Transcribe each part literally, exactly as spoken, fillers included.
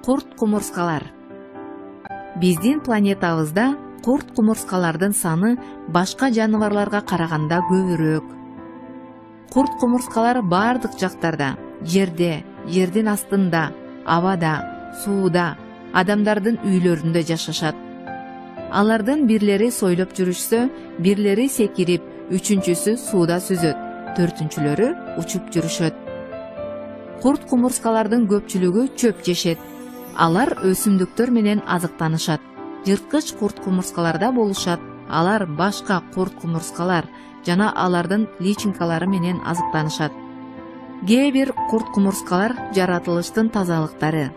Курт-кумурскалар. Биздин планетабызда курт-кумурскалардын саны башка жаныбарларга караганда көбүрөөк. Курт-кумурскалар бардык жактарда, жерде, жердин астында, абада, сууда, адамдардын үйлөрүндө жашашат. Алардын бирлери сойлоп жүрүшсө, бирлери секирип, үчүнчүсү сууда сүзөт, төртүнчүлөрү учуп жүрүшөт. Курт-кумурскалардын көпчүлүгү чөп жешет. Алар өсүмдүктөр менен азыктанышат. Жырткыч курт-кумурскаларда болушат. Алар башка курт-кумурскалар жана алардын личинкалары менен азыктанышат. Кээ бир курт-кумурскалар жаратылыштын тазалыктары.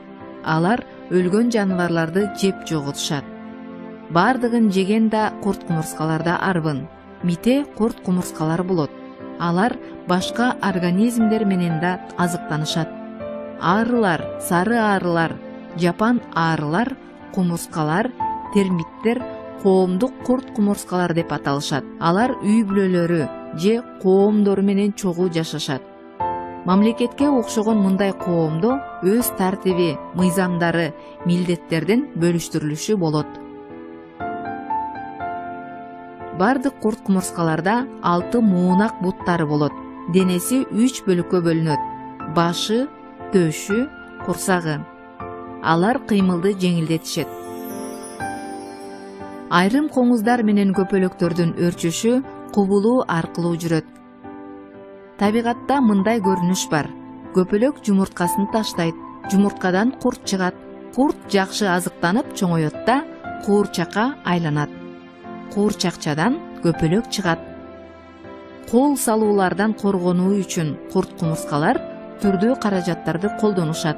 Алар өлгөн жаныбарларды жеп жоготушат. Бардыгын жеген да курт-кумурскаларда арбын. Мите курт-кумурскалар болот. Алар башка организмдер менен да азыктанышат. Арылар, сары арылар, жапан арылар, кумурскалар, термиттер коомдук курт-кумурскалар деп аталышат. Алар үй бүлөлөрү же коомдору менен чогуу жашашат. Мамлекетке окшогон мындай коомдо өз тартиби, мыйзамдары, милдеттердин бөлүштүрүлүшү болот. Бардык курт-кумурскаларда алты муунак буттары болот. Денеси үч бөлүккө бөлүнөт. Башы, төшү, курсагы. Алар кыймылды жеңилдетишет. Айрым коңуздар менен көпөлөктөрдүн өрчүшү кубулуу аркылуу жүрөт. Табигатта мындай көрүнүш бар. Көпөлөк жумурткасын таштайт. Жумурткадан курт чыгат. Курт жакшы азыктанып чоңоет да куурчакка айланат. Куурчакчадан көпөлөк чыгат. Кол салуулардан коргонуу үчүн курт-кумурскалар түрдүү каражаттарды колдонушат.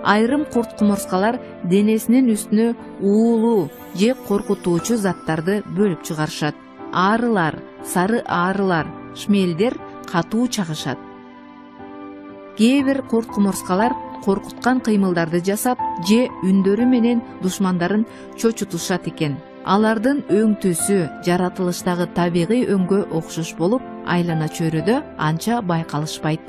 Айрым курт-кумурскалар денесинин үстүнө уулуу же коркутуучу заттарды бөлүп чыгарышат. Арылар, сары арылар, шмелдер катуу чагышат. Кээ бир курт-кумурскалар коркуткан кыймылдарды жасап же үндөрү менен душмандарын чочутушат экен. Алардын өң түсү жаратылыштагы табигый өңгө окшош болуп, айлана чөйрөдө анча байкалышпайт.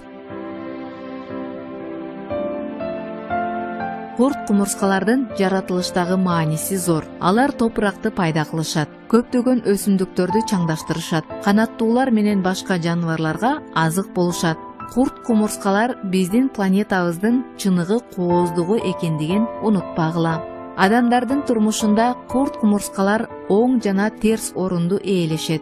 Курт-кумурскалардын жаратылыштагы мааниси зор. Алар топуракты пайда кылышат, көптөгөн өсүмдүктөрдү чаңдаштырышат, канаттуулар менен башка жаныбарларга азык болушат. Курт-кумурскалар биздин планетабыздын чыныгы кооздугу экендигин унутпагыла. Адамдардын турмушунда курт-кумурскалар оң жана терс орунду ээлешет.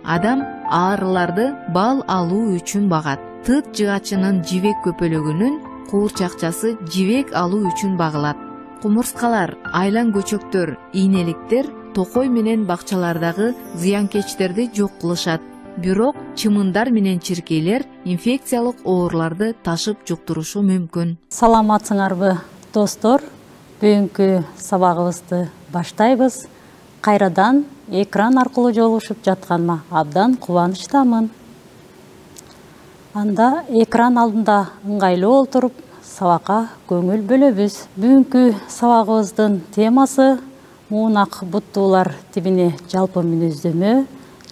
Адам арыларды бал алуу үчүн багат. Тыт жыгачынын жибек көпөлөгүнүн куурчакчасы жибек алуу үчүн багылат. Кумурскалар, айлан көчөктөр, ийнеликтер токой менен бакчалардагы зыянкечтерди жок кылышат. Бирок чымындар менен чиркейлер инфекциялык ооруларды ташып жуктурушу мүмкүн. Саламатсыңарбы, достор? Бүгүнкү сабагыбызды баштайбыз. Кайрадан экран аркылуу жолугушуп жатканыма абдан кубанычтамын. Анда экран алдында ыңгайлуу олтуруп, сабакка көңүл бөлөбүз. Бүгүнкү сабагыбыздын темасы муунак буттуулар тибине жалпы мүнөздөмө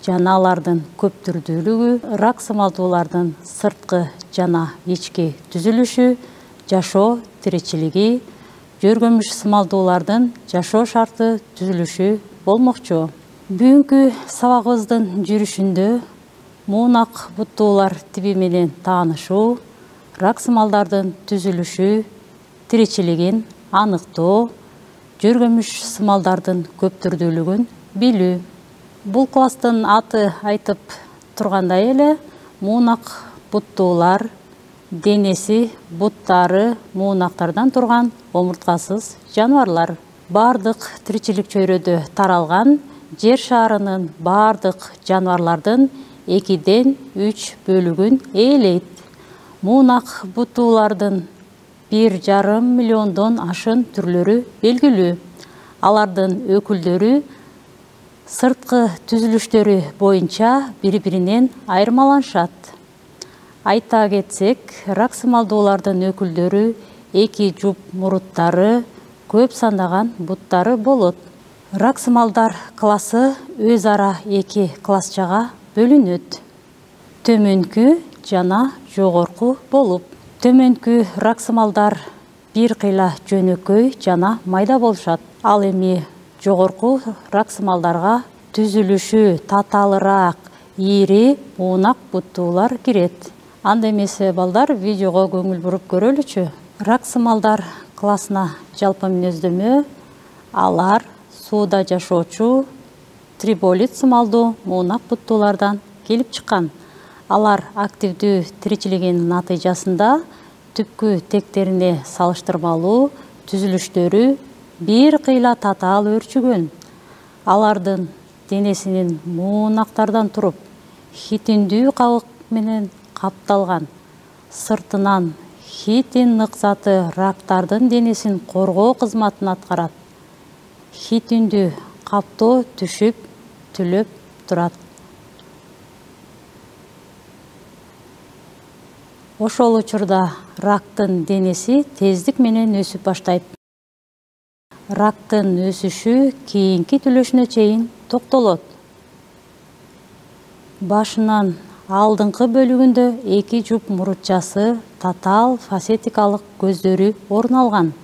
жана алардын көп түрдүүлүгү, рак сымалдуулардын сырткы жана ички түзүлүшү, жашоо тиричилиги, жөргөмүш сымалдуулардын жашоо шарты түзүлүшү болмокчу. Бүгүнкү сабагыбыздын жүрүшүндө муунак буттуулар тиби менен таанышуу, рак сымалдардын түзүлүшү, тиричилигин аныктоо, жөргөмүш сымалдардын көп түрдүүлүгүн билүү. Бул класстын аты айтып тургандай эле, муунак буттуулар денеси, буттары муунактардан турган омурткасыз жаныбарлар. Бардык тиричилик чөйрөдө таралган жер шарынын бардык жаныбарлардын экиден үч бөлүгүн ээлейт. Муунак буттуулардын бир жарым миллиондон ашын түрлөрү белгилүү. Алардын өкүлдөрү сырткы түзүлүштөрү боюнча бири-биринен айырмаланышат. Айта кетсек, рак сымалдуулардын өкүлдөрү эки жуп муруттары, көп сандаган буттары болот. Рак сымалдар классы өз ара эки классчага бөлүнөт. Төмөнкү жана жогорку болуп. Төмөнкү рак сымалдар бир кыйла жөнөкөй жана майда болушат. Ал эми жогорку раксымалдарга түзүлүшү татаалыраак, ири, уунак буттуулар кирет. Анда эмесе балдар, видеого көңүл буруп көрөлүчү. Раксымалдар классына жалпы мүнөздөмө алар сууда жашоочу триболит сымалдуу уунак буттуулардан келип чыккан. Алар активдүү тиричилигинин натыйжасында түпкү тектерине салыштырмалуу түзүлүштөрү бир кыйла татаал өөрчүгөн. Алардын денесинин муунактардан туруп, хитиндүү кабык менен капталган. Сыртынан хитин ныксаты рактардын денесин коргоо кызматын аткарат. Хитиндүү каптоо түшүп, түлөп турат. Ошол учурда рактын денеси тездик менен өсүп баштайт. Рактын өсүшү кийинки түлөшүнө чейин токтолот. Башынан алдыңкы бөлүгүндө эки жуп мурутчасы, татаал фасетикалык көздөрү орун алган.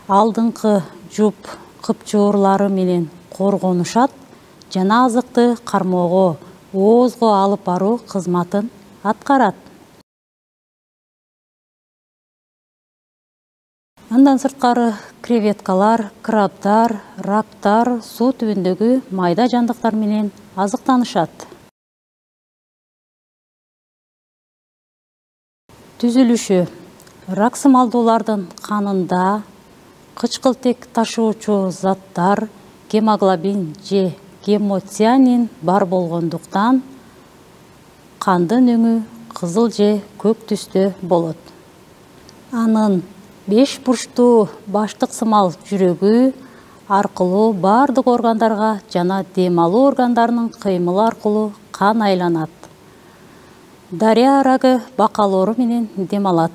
Алдыңкы жуп кыпчуурлары менен коргонушат жана азыкты кармоого, оозго алып баруу кызматын аткарат. Андан сырткары креветкалар, крабдар, рактар суу түбүндөгү майда жандыктар менен азыктанышат. Түзүлүшү. Раксымалдуулардын канында кычкылтек ташуучу заттар, гемоглобин же гемоцианин бар болгондуктан кандын өңү кызыл же көк түстө болот. Анын беш бурчтуу баштык сымал жүрөгү аркылуу бардык органдарга жана дем алуу органдарынын кыймылы аркылуу кан айланат. Дария арагы бакал оору менен дем алат.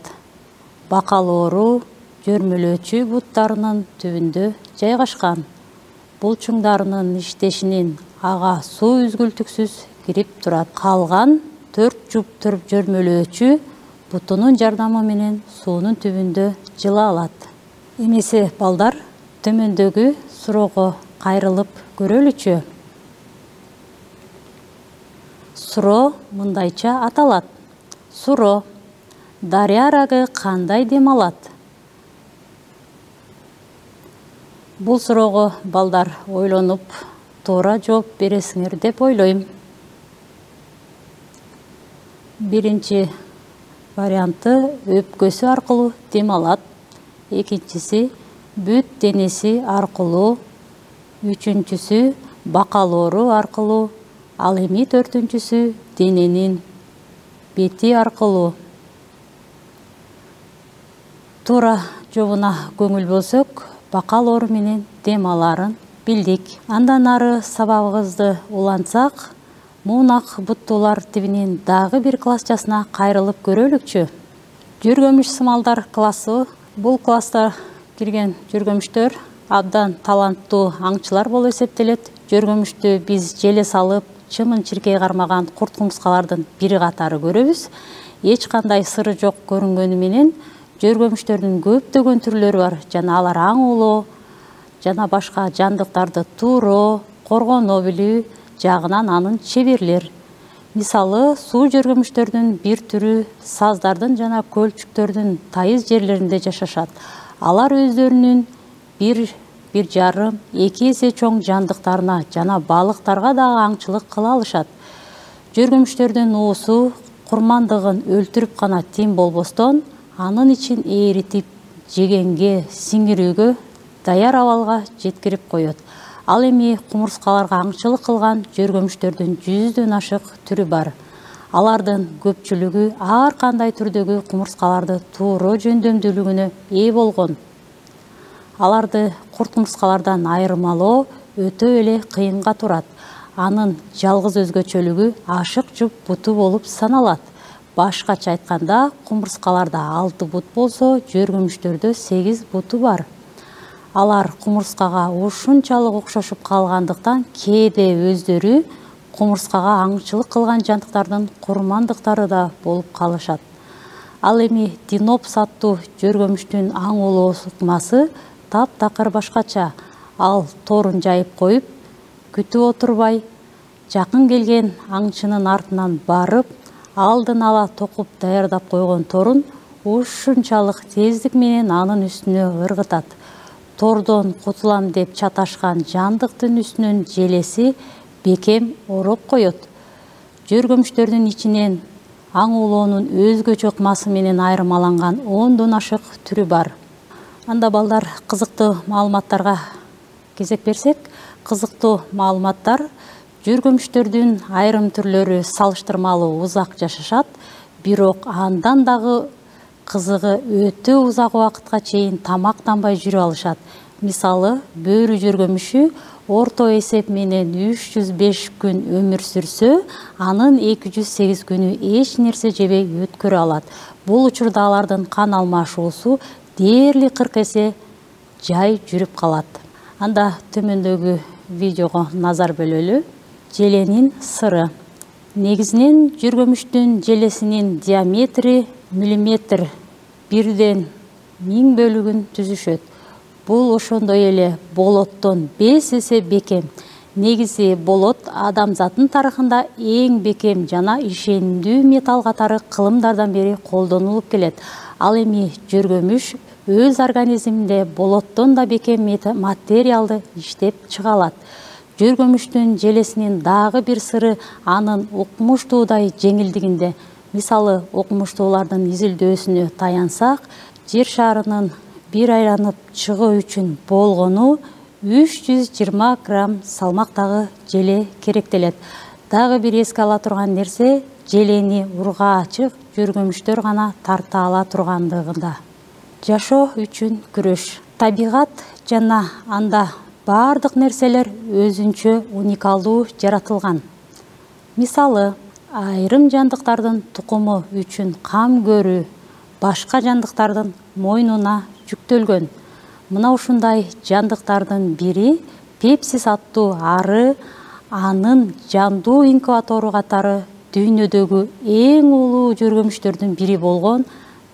Бакал оору жөрмөлөөчү буттарынын түбүндө жайгашкан. Булчуңдарынын иштешинин ага суу үзгүлтүксүз кирип турат. Калган төрт жуп жөрмөлөөчү бутунун жардамы менен суунун түбүндө жыла алат. Эмесе балдар, төмөндөгү суроого кайрылып көрөлүчү. Суроо мындайча аталат. Суроо. Дария арагы кандай дем алат? Бул суроого балдар ойлонуп, туура жооп бересиңер деп ойлойм. Биринчи варианты өпкөсү аркылуу дем алат. Экинчиси бүт денеси аркылуу. Үчүнчүсү бакал оору аркылуу. Ал эми төртүнчүсү дененин бети аркылуу. Туура жообуна көңүл бөлсөк, бакал оору менен дем аларын билдик. Андан ары сабагыбызды улантсак, муунак буттуулар тибинин дагы бир классчасына кайрылып көрөлүкчү. Жөргөмүш сымалдар классы. Бул класста кирген жөргөмүштөр абдан таланттуу аңчылар болуп эсептелет. Жөргөмүштү биз желе салып, чымын чиркей кармаган курт кумурскалардын бири катары көрөбүз. Эч кандай сыры жок көрүнгөнү менен жөргөмүштөрдүн көптөгөн түрлөрү бар. Жана алар аң улоо жана башка жандыктарды тууроо, коргоно билүү жагынан анын чеберлер. Мисалы, суу жөргөмүштөрдүн бир түрү саздардын жана көлчүктөрдүн тайыз жерлеринде жашашат. Алар өздөрүнүн бир бир жарым эки эсе чоң жандыктарына жана балыктарга дагы аңчылык кыла алышат. Жөргөмүштөрдүн уусу курмандыгын өлтүрүп гана тим болбостон, анын ичин ээритип, жегенге, сиңирүүгө даяр абалга жеткирип коет. Ал эми кумурскаларга аңчылык кылган жөргөмүштөрдүн жүздөн ашык түрү бар. Алардын көпчүлүгү ар кандай түрдөгү кумурскаларды тууроо жөндөмдүүлүгүнө ээ болгон. Аларды курт кумурскалардан айырмалоо өтө эле кыйынга турат. Анын жалгыз өзгөчөлүгү ашык жуп буту болуп саналат. Башкача айтканда, кумурскаларда алты бут болсо, жөргөмүштөрдө сегиз буту бар. Алар кумурскага ушунчалык окшошуп калгандыктан кээде өздөрү кумурскага аңчылык кылган жандыктардын курмандыктары да болуп калышат. Ал эми Динопс аттуу жөргөмүштүн аң улоо ыкмасы таптакыр башкача. Ал торун жайып коюп, күтүп отурбай, жакын келген аңчынын артынан барып, алдын ала токуп даярдап койгон торун ушунчалык тездик менен анын үстүнө ыргытат. Тордон кутулам деп чаташкан жандыктын үстүнөн желеси бекем ороп коет. Жөргөмүштөрдүн ичинен аң улоонун өзгөчө ыкмасы менен айырмаланган ондон ашык түрү бар. Анда балдар, кызыктуу маалыматтарга кезек берсек, кызыктуу маалыматтар: жөргөмүштөрдүн айрым түрлөрү салыштырмалуу узак жашашат, бирок андан дагы кызыгы өтө узак убакытка чейин тамактанбай жүрө алышат. Мисалы, бөөрү жөргөмүшү орто эсеп менен үч жүз беш күн өмүр сүрсө, анын эки жүз сегиз күнү эч нерсе жебей өткөрө алат. Бул учурда алардын кан алмашуусу дээрлик кырк эсе жай жүрүп калат. Анда төмөндөгү видеого назар бөлөлү. Желенин сыры. Негизинен жөргөмүштүн желесинин диаметри миллиметр, бирден миң бөлүгүн түзүшөт. Бул ошондой эле болоттон беш эсе бекем. Негизи болот адамзаттын тарыхында эң бекем жана ишендүү металл катары кылымдардан бери колдонулуп келет. Ал эми жөргөмүш өз организминде болоттон да бекем материалды иштеп чыга алат. Жөргөмүштүн желесинин дагы бир сыры анын укмуштуудай жеңилдигинде. Мисалы, укмуштуулардын изилдөөсүнө таянсак, жер шарынын бир айланып чыгуу үчүн болгону үч жүз жыйырма грамм салмактагы желе керектелет. Дагы бир эске ала турган нерсе, желени ургаачык жөргөмүштөр гана тарта ала тургандыгында. Жашоо үчүн күрөш. Табигат жана анда бардык нерселер өзүнчө уникалдуу жаратылган. Мисалы, айрым жандыктардын тукуму үчүн кам көрүү башка жандыктардын мойнуна жүктөлгөн. Мына ушундай жандыктардын бири пепсис аттуу ары, анын жандуу инкубатору катары дүйнөдөгү эң улуу жөргөмүштөрдүн бири болгон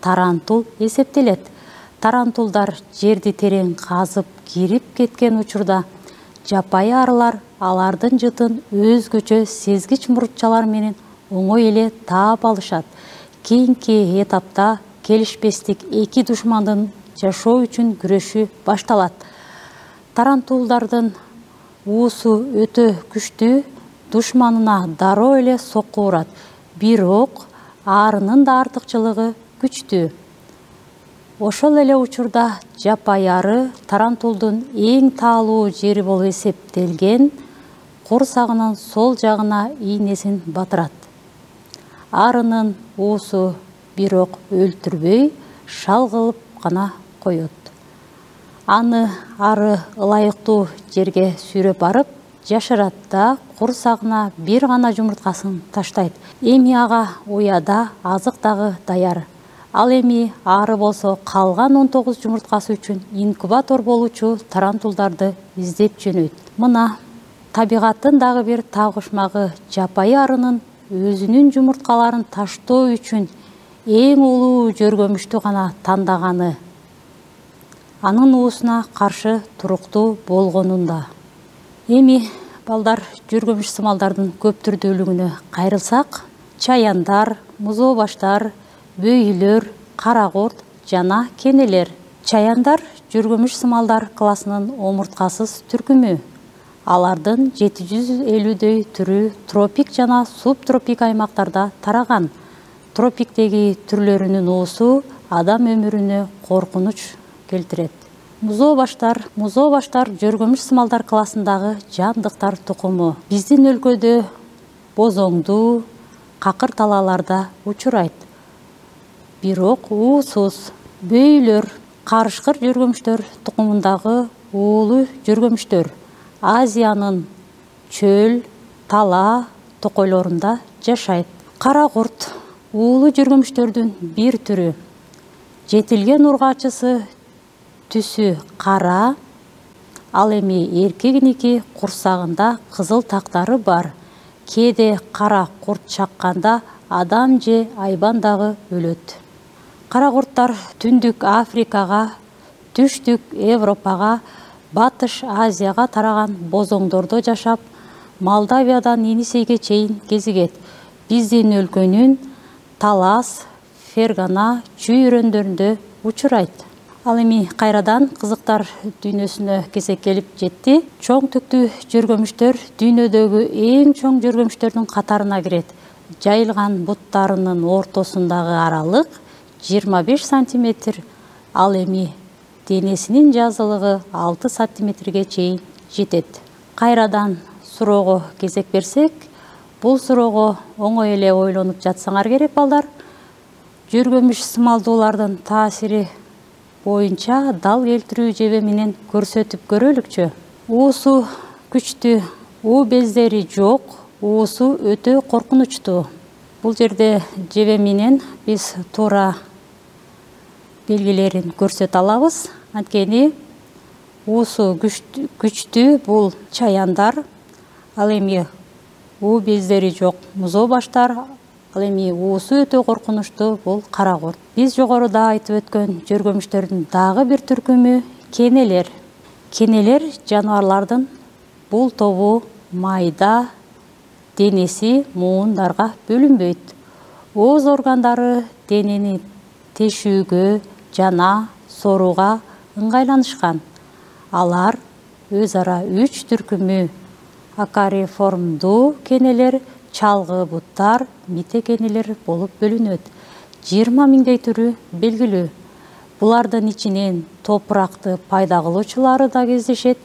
тарантул эсептелет. Тарантулдар жерди терең казып кирип кеткен учурда жапайы арылар алардын жытын өзгөчө сезгич мурутчалар менен оңой эле таап алышат. Кийинки этапта келишпестик эки душмандын жашоо үчүн күрөшү башталат. Тарантулдардын уусу өтө күчтүү, душманына дароо эле сокку урат. Бирок арынын да артыкчылыгы күчтүү. Ошол эле учурда жапайы ары тарантулдун эң таалуу жери болуп эсептелген курсагынын сол жагына ийнесин батырат. Арынын уусу бирок өлтүрбөй, шал кылып гана коет. Аны ары ылайыктуу жерге сүйрөп барып жашырат да курсагына бир гана жумурткасын таштайт. Эми ага уяда азык дагы даяр. Ал эми ары болсо калган он тогуз жумурткасы үчүн инкубатор болуучу тарантулдарды издеп жөнөйт. Мына табигаттын дагы бир тагышмагы жапайы арынын өзүнүн жумурткаларын таштоо үчүн эң улуу жөргөмүштү гана тандаганы, анын уусуна каршы туруктуу болгонунда. Эми балдар, жөргөмүш сымалдардын көп түрдүүлүгүнө кайрылсак, чаяндар, музоо баштар, бөйлөр, кара курт жана кенелер. Чаяндар жөргөмүш сымалдар классынын омурткасыз түркүмү. Алардын жети жүз элүүдөй түрү тропик жана субтропик аймактарда тараган. Тропиктеги түрлөрүнүн уусу адам өмүрүнө коркунуч келтирет. Музоо баштар, музоо баштар жөргөмүш сымалдар классындагы жандыктар тукуму. Биздин өлкөдө бозоңдуу, какыр талааларда учурайт. Бирок уусуз. Бөйлөр, карышкыр жөргөмүштөр тукумундагы уулуу жөргөмүштөр. Азиянын чөл, тала токойлорунда жашайт. Кара курт уулуу жөргөмүштөрдүн бир түрү. Жетилген ургаачысы түсү кара, ал эми эркегиники курсагында кызыл тактары бар. Кээде кара курт чакканда адам же айбан дагы өлөт. Кара курттар түндүк Африкага, түштүк Европага, батыш Азияга тараган бозоңдордо жашап, Молдавиядан Енисейге чейин кезигет. Биздин өлкөнүн Талас, Фергана чүйрөндөрүндө учурайт. Ал эми кайрадан кызыктар дүйнөсүнө кезек келип жетти. Чоң түктүү жөргөмүштөр дүйнөдөгү эң чоң жөргөмүштөрдүн катарына кирет. Жайылган буттарынын ортосундагы аралык жыйырма беш сантиметр, ал эми денесинин жазылыгы алты сантиметрге чейин жетет. Кайрадан суроого кезек берсек, бул суроого оңой эле ойлонуп жатсаңар керек балдар. Жөргөмүш сымалдуулардын таасири боюнча дал келтирүү жебе менен көрсөтүп көрөлүкчү. Уусу күчтүү, уу бездери жок, уусу өтө коркунучтуу. Бул жерде жебе менен биз туура белгилерин көрсөтө алабыз. Анткени уусу күчтүү бул чаяндар, ал эми уу бездери жок музоо баштар, ал эми уусу өтө коркунучтуу бул кара курт. Биз жогоруда айтып өткөн жөргөмүштөрдүн дагы бир түркүмү кенелер. Кенелер жаныбарлардын бул тобу майда денеси муундарга бөлүнбөйт. Ооз органдары денени тешүүгө жана сорууга ыңгайланышкан. Алар өз ара үч түркүмү: акариформдуу кенелер, чалгы буттар, мите кенелер болуп бөлүнөт. жыйырма миңдей түрү белгилүү. Булардын ичинен топуракты пайда кылуучулары да кездешет.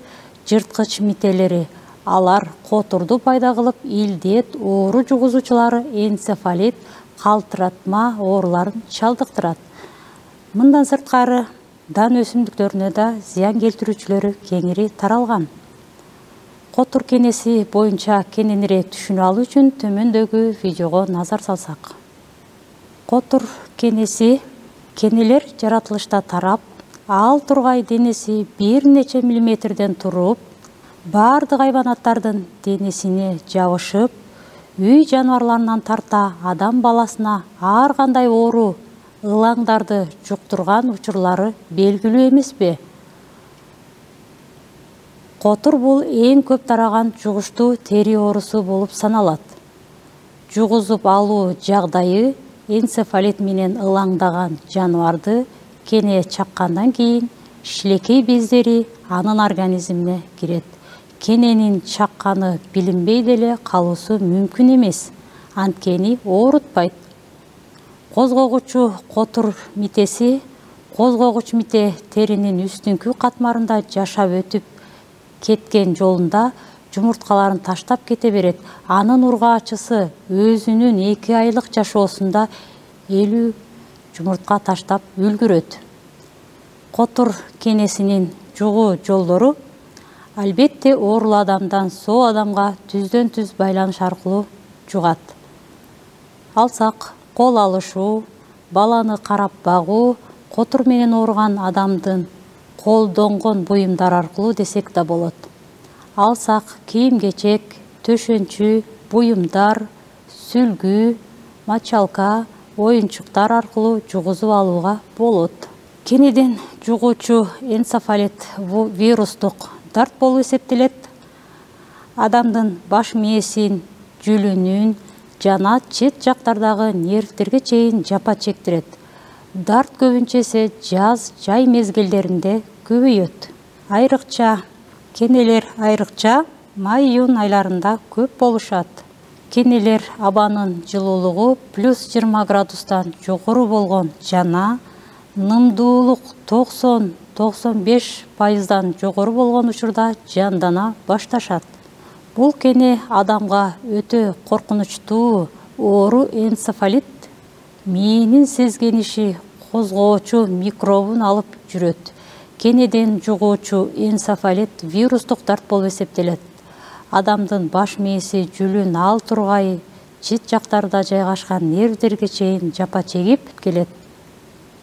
Жырткыч мителери, алар которду пайда кылып, илдет, оору жугузуучулары энцефалит, калтыратма ооруларын чалдыктырат. Мындан сырткары дан өсүмдүктөрүнө да зыян келтирүүчүлөрү кеңири таралган. Котур кенеси боюнча кененирээк түшүнүп алуу үчүн төмөндөгү видеого назар салсак. Котур кенеси кенелер жаратылышта тарап, ал тургай денеси бир нече миллиметрден туруп, бардык хайванаттардын денесине жабышып, үй жаныбарларынан тарта адам баласына ар кандай оору, ылаңдарды жуктурган учурлары белгилүү эмеспи? Котур бул эң көп тараган жугуштуу тери оорусу болуп саналат. Жугузуп алуу жагдайы энцефалит менен ылаңдаган жаныбарды кене чаккандан кийин шилекей бездери анын организмине кирет. Кененин чакканы билинбей деле калуусу мүмкүн эмес, анткени оорутпайт. Козгогучу котур митеси, козгогуч мите теринин үстүңкү катмарында жашап өтүп кеткен жолунда жумурткаларын таштап кете берет. Анын ургаачысы өзүнүн эки айлык жашоосунда элүү жумуртка таштап үлгүрөт. Котур кенесинин жугуу жолдору албетте оорулуу адамдан соо адамга түздөн түз байланыш аркылуу жугат. Алсак, кол алышуу, баланы карап багуу, котур менен ооруган адамдын колдонгон буюмдар аркылуу десек да болот. Алсак, кийим-кечек, төшөнчү, буюмдар, сүлгү, мочалка, оюнчуктар аркылуу жугузуп алууга болот. Кенеден жугуучу энцефалит вирустук дарт болуп эсептелет. Адамдын баш мээсин, жүлүнүн жана чет жактардагы нервтерге чейин жапа чектирет. Дарт көбүнчө эсе жаз, жай мезгилдеринде көбөйөт. Айрыкча кенелер айрыкча май-июнь айларында көп болушат. Кенелер абанын жылуулугу плюс жыйырма градустан жогору болгон жана нымдуулук токсон токсон беш пайыздан жогору болгон учурда жандана башташат. Бул кене адамга өтө коркунучтуу оору энцефалит мээнин сезгениши козгоочу микробун алып жүрөт. Кенеден жугуучу энцефалит вирустук дарт болуп эсептелет. Адамдын баш мээси, жүлүн, ал тургай чет жактарда жайгашкан нервдерге чейин жапа чегип келет.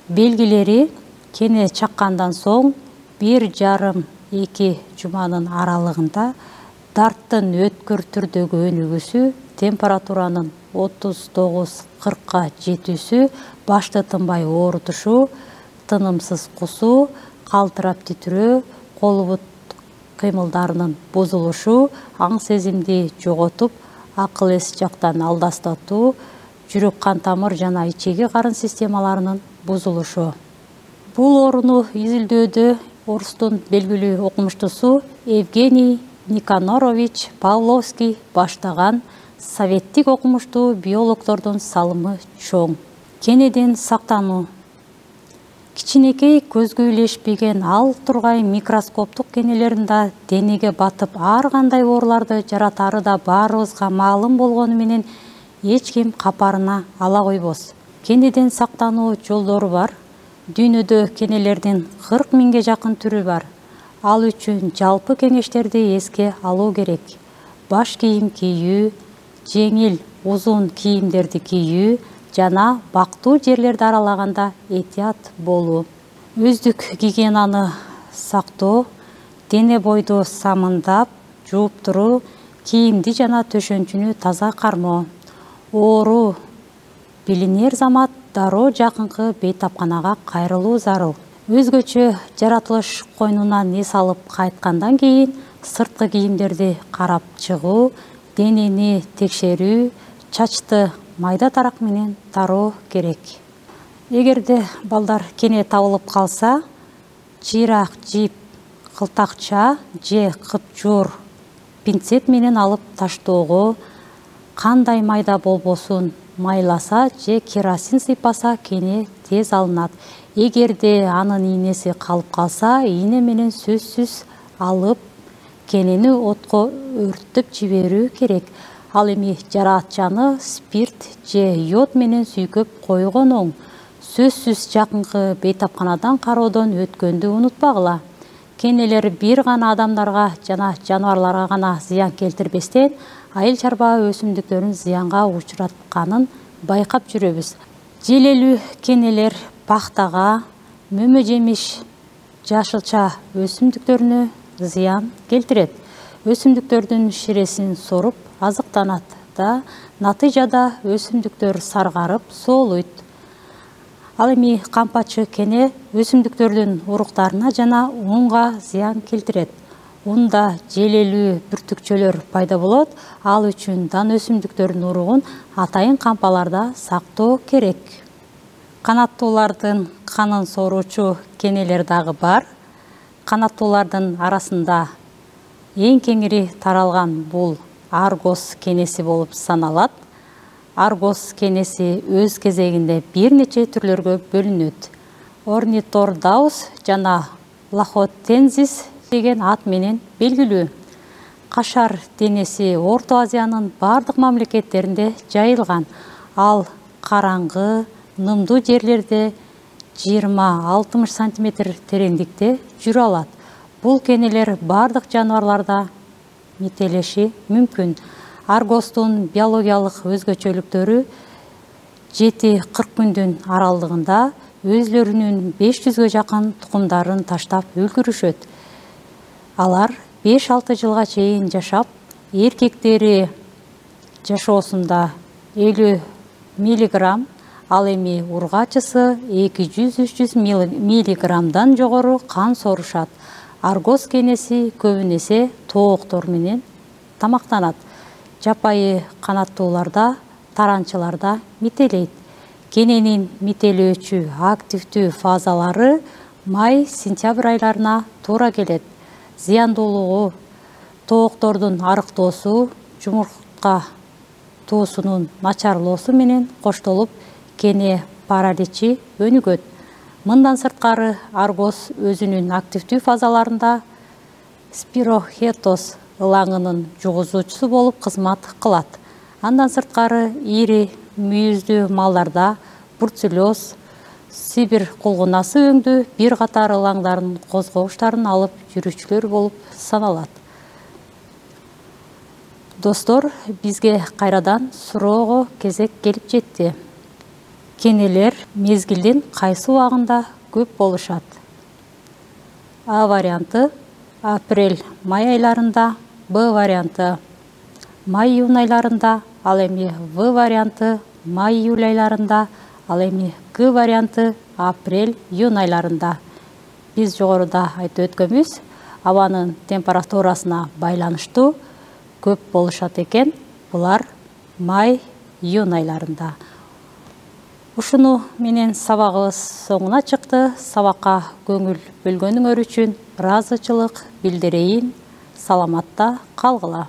Белгилери кене чаккандан соң бир жарым эки жуманын аралыгында дарттын өткөр түрдөгү өнүгүүсү температуранын отуз тогуз кыркка жетүүсү, башты тынбай оорутушу, тынымсыз кусуу, калтырап титирөө, кол бут кыймылдарынын бузулушу, аң сезимди жоготуп, акыл эс жактан алдастатуу, жүрөк кан тамыр жана ичеги карын системаларынын бузулушу. Бул ооруну изилдөөдө орустун белгилүү окумуштусу Евгений Никанорович Павловский баштаган советтик окумуштуу биологдордун салымы чоң. Кенеден сактануу. Кичинекей көзгө илешпеген ал тургай микроскоптук кенелерин да денеге батып, ар кандай ооруларды жаратары да баарыбызга маалым болгону менен эч ким капарына ала койбос. Кенеден сактануу жолдору бар. Дүйнөдө кенелердин кырк миңге жакын түрү бар. Ал үчүн жалпы кеңештерди эске алуу керек. Баш кийим кийүү, жеңил, узун кийимдерди кийүү жана бактуу жерлерди аралаганда этият болуу. Өздүк гигиенаны сактоо, дене бойду самындап, жууп туруу, кийимди жана төшөнчүнү таза кармоо. Оору билинер замат дароо жакынкы бейтапканага кайрылуу зарыл. Өзгөчө жаратылыш койнунан эс алып кайткандан кийин сырткы кийимдерди карап чыгуу, денени текшерүү, чачты майда тарак менен тароо керек. Эгерде балдар кене табылып калса, чыйрак жип, кылтакча же кыпчуур пинцет менен алып таштоого, кандай майда болбосун майласа же керосин сыйпаса кене тез алынат. Эгерде анын ийнеси калып калса, ийне менен сөзсүз алып, кенени отко өрттөп жиберүү керек. Ал эми жараатчаны спирт же йод менен сүйкөп койгон оң. Сөзсүз жакынкы бейтапканадан кароодон өткөндү унутпагыла. Кенелер бир гана адамдарга жана жаныбарларга гана зыян келтирбестен, айыл чарба өсүмдүктөрүн зыянга учуратканын байкап жүрөбүз. Желелүү кенелер пахтага, мөмө жемиш, жашылча өсүмдүктөрүнө зыян келтирет. Өсүмдүктөрдүн ширесин соруп азыктанат да, натыйжада өсүмдүктөр саргарып, соолойт. Ал эми кампачы кене өсүмдүктөрдүн уруктарына жана унга зыян келтирет. Унда желелүү бүртүкчөлөр пайда болот. Ал үчүн дан өсүмдүктөрдүн уругун атайын кампаларда сактоо керек. Канаттуулардын канын сооручу кенелер дагы бар. Канаттуулардын арасында эң кеңири таралган бул аргос кенеси болуп саналат. Аргос кенеси өз кезегинде бир нече түрлөргө бөлүнөт. Орнитордаус жана лахотензис деген ат менен белгилүү. Кашар денеси Орто Азиянын бардык мамлекеттеринде жайылган. Ал караңгы, нымдуу жерлерде жыйырма алтымыш сантиметр тереңдикте жүрө алат. Бул кенелер бардык жаныбарларда метелеши мүмкүн. Аргостун биологиялык өзгөчөлүктөрү жети кырк күндүн аралыгында өзлөрүнүн беш жүзгө жакын тукумдарын таштап үлгүрүшөт. Алар беш алты жылга чейин жашап, эркектери жашоосунда элүү миллиграмм, ал эми ургачысы эки жүз үч жүз миллиграммдан жогору кан соорушат. Аргос кенеси көбүнесе тооктор менен тамактанат. Жапайы канаттууларда, таранчыларда метелейт. Кененин метелөөчү активдүү фазалары май-сентябрь айларына туура келет. Зыяндуулугу тооктордун арыктоосу, жумуртка туусунун начарлоосу менен коштолуп, кене параличи өнүгөт. Мындан сырткары аргос өзүнүн активдүү фазаларында спирохетос ылаңынын жугузуучусу болуп кызмат кылат. Андан сырткары ири мүйүздүү малдарда бруцеллез, Сибир кулгунасы өңдүү бир катар ылаңдардын козгогуштарын алып жүрүүчүлөр болуп саналат. Достор, бизге кайрадан суроого кезек келип жетти. Кенелер мезгилдин кайсы убагында көп болушат? А варианты апрель-май айларында, Б варианты май-июнь айларында, ал эми В варианты май-июль айларында, ал эми Г варианты апрель-июнь айларында. Биз жогоруда айтып өткөнбүз, абанын температурасына байланыштуу көп болушат экен. Булар май-июнь айларында. Ушуну менен сабагыбыз соңуна чыкты. Сабакка көңүл бөлгөнүңөр үчүн ыраазычылык билдирейин. Саламатта калгыла.